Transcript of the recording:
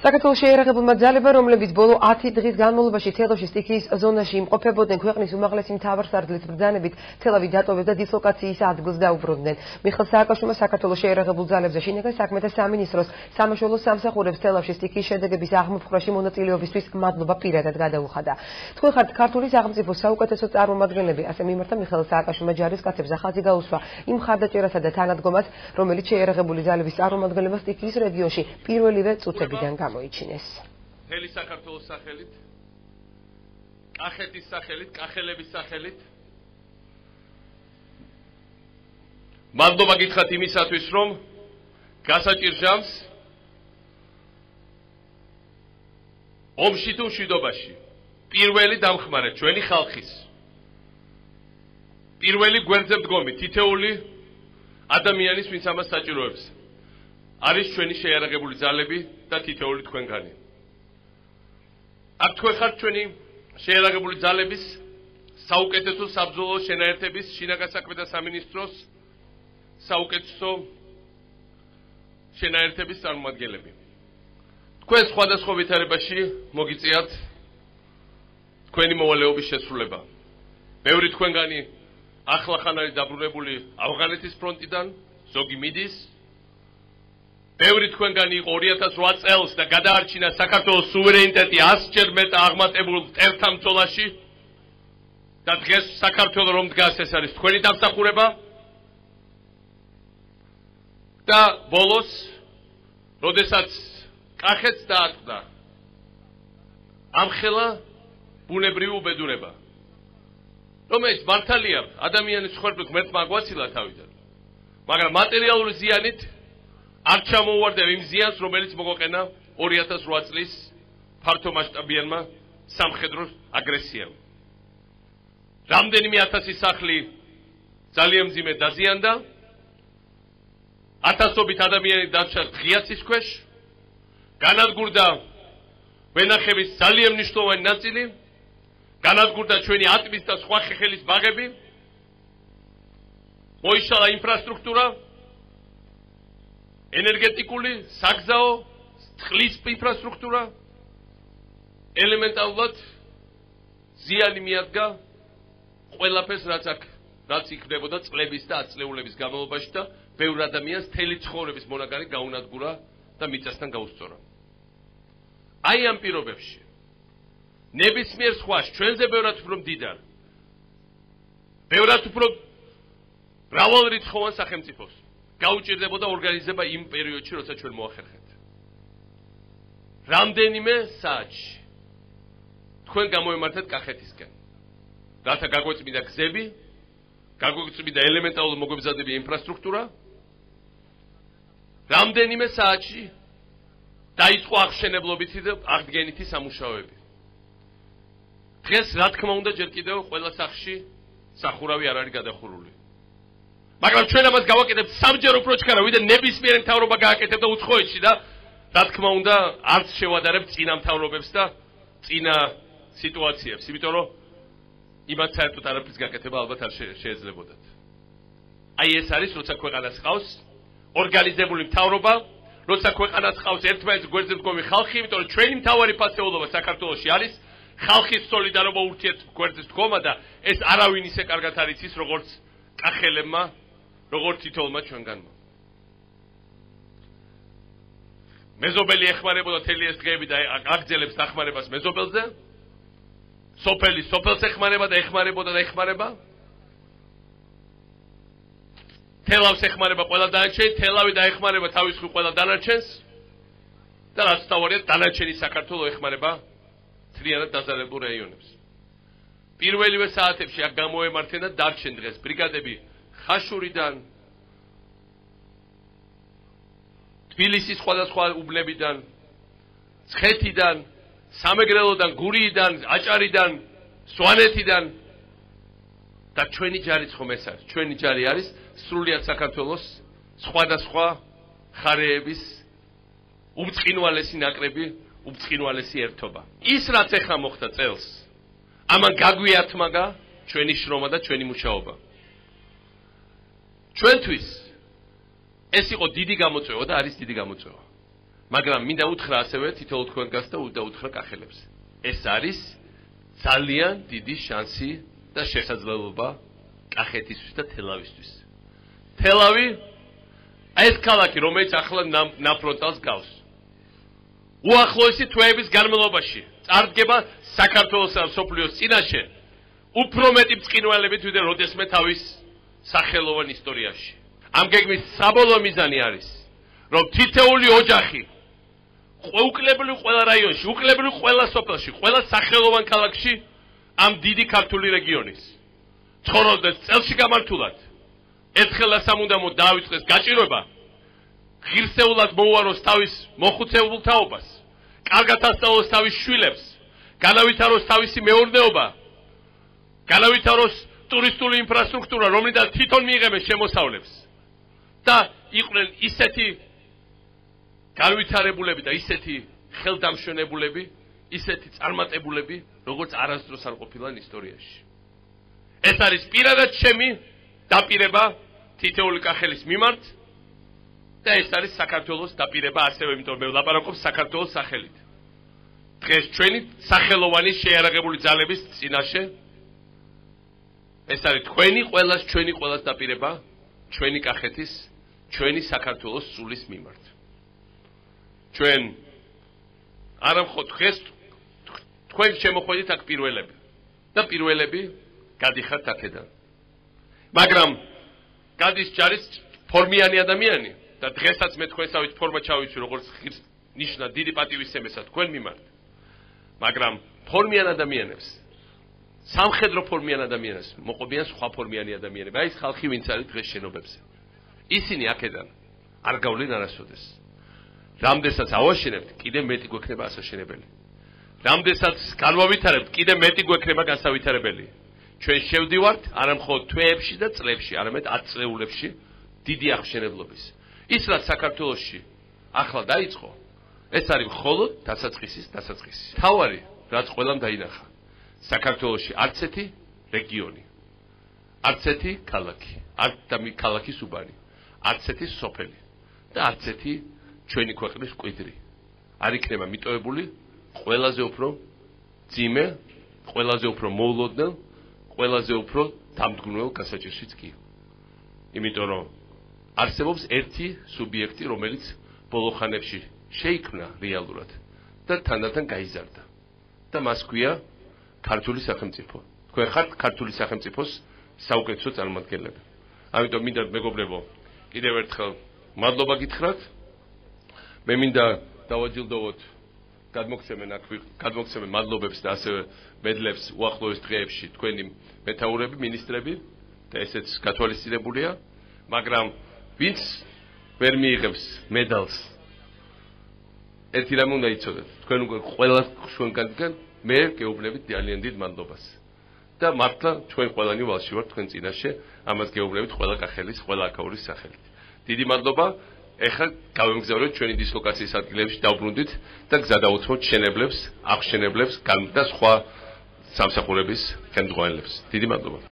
საქართველოს შეიარაღებულმა ძალებმა, რომლებიც ბოლო 10 დღის განმავლობაში თელავში სტიქიის ზონაში იმყოფებოდნენ, ქვეყნის უმაღლესი მთავარსარდლის ბრძანებით თელავი დატოვეს და დისლოკაციის ადგილს დაუბრუნდნენ. მიხეილ სააკაშვილმა საქართველოს შეიარაღებულ ძალებზე შინაგან საქმეთა სამინისტროს სამაშველო სამსახურებს თელავში სტიქიის შედეგების აღმოფხვრაში მონაწილეობისთვის მადლობა პირადად გადაუხადა. თქვენ ხართ ქართული სახელმწიფოს საუკეთესო წარმომადგენლები, ასე მიმართა მიხეილ სააკაშვილმა ჯარისკაცებს ახალი გაუსვა იმ მხარდაჭერასა და თანადგომას, რომელიც შეიარაღებული ძალების წარმომადგენლებმა სტიქიის რეგიონში პირველივე წუთებიდან გამოიჩინეს. მთელი საქართველოს სახელით, კახეთის სახელით, კახელების სახელით მადლობა გითხრათ იმისათვის, რომ გასაჭირ ჟამს ომში თუ მშვიდობაში პირველი დამხმარე ჩვენი ხალხის, პირველი გვერდზე მდგომი თითეული ადამიანის, ვინც ამას საჭიროებს, არის ჩვენი შეიარაღებული ძალები და თითეული თქვენგანი. აქ თქვენ ხართ ჩვენი შეიარაღებული ძალების საუკეთესო საბრძოლო შენაერთების შინაგან საქმეთა სამინისტროს საუკეთესო შენაერთების წარმომადგენლები. თქვენ სხვადასხვა ვითარებაში მოგიწიათ თქვენი მოვალეობის შესრულება. ბევრი თქვენგანი ახლახან არის დაბრუნებული ავღანეთის ფრონტიდან, ზოგი მიდის. ბევრი თქვენგანი იყო 2008 წელს და გადაარჩინა საქართველოს სუვერენიტეტი 100-ჯერ მეტ აღმატებულ მტერთა ბრძოლაში და დღეს საქართველოს რომ დგას, ეს არის თქვენი დამსახურება. და ბოლოს, როდესაც კახეთს დაატყდა ამხელა ბუნებრივი უბედურება, რომელიც მართალია ადამიანის ცხოვრება ღმერთმა აგვაცილა თავიდან, მაგრამ მატერიალური ზიანით არ ჩამოუვარდა იმ ზიანს, რომელიც მოგოყენა 2008 წლის ფართომასშტაბიანმა სამხედრო აგრესიამ. რამდენიმე ათასი სახლი ძალიან მძიმე დაზიანდა, ათასობით ადამიანი დარჩა ღიაცის ქვეშ, განადგურდა ვენახების ძალიან მნიშვნელოვანი ნაწილი, განადგურდა ჩვენი ატმის და სხვა ხეხილის ბაღები, მოიშალა ინფრასტრუქტურა, ენერგეტიკული, საგზაო, წყლის ინფრასტრუქტურა, ელემენტარულად ზიანი მიადგა ყველაფერს, რაც იქნებოდა წლების და ათწლეულების განმავლობაში და ბევრ ადამიანს მთელი ცხოვრების მონაგარი გაუნადგურა და მიწასთან გაუსწორა. აი ამ პირობებში ნებისმიერ სხვას, ჩვენზე ბევრად უფრო მდიდარ, ბევრად უფრო მრავალრიცხოვან სახელმწიფოს გაუჭირდებოდა ორგანიზება იმ პერიოდში, როცა ჩვენ მოახერხეთ. რამდენიმე საათში თქვენ გამოემართეთ კახეთისკენ, რათა გაგვეწმინდა გზები, გაგვეწმინდა ელემენტარული მოგვემზადებია ინფრასტრუქტურა. რამდენიმე საათში დაიწყო აღშენებლობითი და აღდგენითი სამუშაოები. დღეს, რა თქმა უნდა, ჯერ კიდევ ყველა სახლში სახურავი არ არის გადახურული. მაგრამ ჩვენ ამას გავაკეთებთ სამჯერ უფრო ჩქარა, ვიდრე ნებისმიერი მთავრობა გააკეთებდა უცხოეთში და რა თქმა უნდა, არც შევადარებთ წინა მთავრობებს და წინა სიტუაციებს, იმიტომ რომ იმათ საერთოდ არაფრის გაკეთება ალბათ არ შეეძლებოდათ. აი ეს არის, როცა ქვეყანას ყავს ორგანიზებული მთავრობა, როცა ქვეყანას ყავს ერთმანეთის გვერდზე მდგომი ხალხი, იმიტომ რომ ჩვენი მთავარი ფასეულობა საქართველოში არის ხალხის სოლიდარობა, ურთიერთგვერდზე მდგომა და ეს არავინ ისე კარგად არ იცის, როგორც კახელებმა, როგორც თითოეულმა ჩვენგანმა. მეზობელი ეხმარებოდა მთელი ეს დღეები და აგრძელებს დახმარებას მეზობელზე. სოფელი სოფელს ეხმარება და ეხმარებოდა და ეხმარება. თელავს ეხმარება ყველა დანარჩენი, თელავი დაეხმარება თავის მხრივ ყველა დანარჩენს და რაც თავარია, დანარჩენი საქართველოს ეხმარება მთლიანად დაზარალებულ რაიონებს. პირველივე საათებში აქ გამოემართენ და დარჩენ დღეს ბრიგადები ხაშურიდან, თბილისის სხვადასხვა უბნებიდან, ცხეთიდან, სამეგრელოდან, გურიიდან, აჭარიდან, სვანეთიდან და ჩვენი ჯარიც ხომ ეს არის. ჩვენი ჯარი არის სრულიად საქართველოს სხვადასხვა ხარეების უმწყინვალესი ნაკრები, უმწყინვალესი ერთობა. ის რაც ეხლა მოხდა წელს, ამან გაგვიათმაგა ჩვენი შრომა და ჩვენი მუშაობა. ჩვენთვის ეს იყო დიდი გამოწვევა და არის დიდი გამოწვევა. მაგრამ მინდა უთხრა ასევე თითოეულ თქვენგანს და უთხრა კახელებს. ეს არის ძალიან დიდი შანსი და შესაძლებლობა კახეთისთვის და თელავისთვის. თელავი ეს ქალაქი, რომელიც ახლა ნაფრონტალს გავს. უახლოესი თვეების განმავლობაში წარდგება საქართველოსა და მსოფლიოს წინაშე უფრო მეტი ბრწყინვალებით, ვიდრე როდესმე თავის სახელოვან ისტორიაში. ამ გეგმის საბოლოო მიზანი არის, რომ თითოეული ოჯახი უკლებრივ ყველა რაიონში, უკლებრივ ყველა სოფელში, ყველა სახელოვან ქალაქში ამ დიდი ქართული რეგიონის ცხოვრობდეს წელში გამართულად. ერთხელა სამუდამოდ დაავიწყდეს გაჭირვება, ღირსეულად მოუაროს თავის მოხუცებულ თაობას, კარგად ასწავლოს თავის შვილებს, განავითაროს თავისი მეურნეობა, განავითაროს ტურისტული ინფრასტრუქტურა, რომლიდან თვითონ მიიღებენ შემოსავლებს და იყვნენ ისეთი განვითარებულები და ისეთი ხელდამშვენებულები, ისეთი წარმატებულები, როგორც არასდროს არ ყოფილან ისტორიაში. ეს არის პირადად ჩემი დაპირება თითოეული კახელის მიმართ და ეს არის საქართველოს დაპირება ასევე, იმიტომ მე ვლაპარაკობ საქართველოს სახელით. დღეს ჩვენი სახელოვანი შეიარაღებული ძალების წინაშე ეს არის ჩვენი ყველას დაპირება, ჩვენი კახეთის, ჩვენი საქართველოს სულის მიმართ. ჩვენ არა მხოლოდ დღეს თქვენ შემოხვედით აქ პირველები და პირველები გადიხართ აქედან. მაგრამ გადის ჯარის ფორმიანი ადამიანი და დღესაც მე თქვენსავით ფორმა ჩავიცვი, როგორც ნიშნა დიდი პატივისცემისა თქვენ მიმართ. მაგრამ ფორმიან ადამიანებს, სამხედრო ფორმიან ადამიანებს მოყობიან სხვა ფორმიანი ადამიანები. აი ეს ხალხი ვინც არის დღეს შენობებზე. ისინი აქედან არ გავლენ არასოდეს. რამდენსაც ავაშენებთ, კიდე მეტი გვექნება ასაშენებელი. რამდენსაც განვავითარებთ, კიდე მეტი გვექნება განსავითარებელი. ჩვენ შევდივართ არა მხოლოდ თვეებში და წლებში, არამედ 10 წლეულებში დიდი აღშენებლობის. ის რაც საქართველოში ახლა დაიწყო, ეს არის მხოლოდ დასაწყისის დასაწყისი. თავარი, რაც ყველამ დაინახა. საქართველოში არც ერთი რეგიონი, არც ერთი ქალაქი, ქალაქის უბანი, არც ერთი სოფელი და არც ერთი ჩვენი ქვეყნის მკვიდრი არ იქნება მიტოვებული ყველაზე უფრო ძიმე, ყველაზე უფრო მოულოდნელ, ყველაზე უფრო დამდგმელ გასაჭირშიც კი. იმიტომ რომ არსებობს ერთი სუბიექტი, რომელიც ბოლო ხანებში შეიქმნა რეალურად და თანდათან გაიზარდა. და მას ქვია ქართული სახელმწიფო. თქვენ ხართ ქართული სახელმწიფოს საუკეთესო წარმომადგენლები. ამიტომ მინდა მეგობრებო, კიდევ ერთხელ მადლობა გითხრათ. მე მინდა დავაჯილდოვოთ გადმოგცემენ მადლობებს და ასევე მედლებს უახლოეს დღეებში თქვენი მეთაურები, მინისტრები და ესეც გათვალისწინებულია, მაგრამ ვინც ვერ მიიღებს მედალს, ერთი რამ უნდა იცოდეთ, თქვენ უკვე ყველა ჩვენგან მე გეუბნებით ძალიან დიდ მადლობას. და მართლა ჩვენ ყველანი ვალში ვართ თქვენ წინაშე, ამას გეუბნებით ყველა კახელის, ყველა აქაურის სახელით. დიდი მადლობა. ეხლა გავემგზავრეთ ჩვენი დისლოკაციის ადგილებში, დავბრუნდით და გზა დავუცმოთ შენებლებს, აღშენებლებს და სხვა სამსახურების ხელმძღვანელებს. დიდი მადლობა.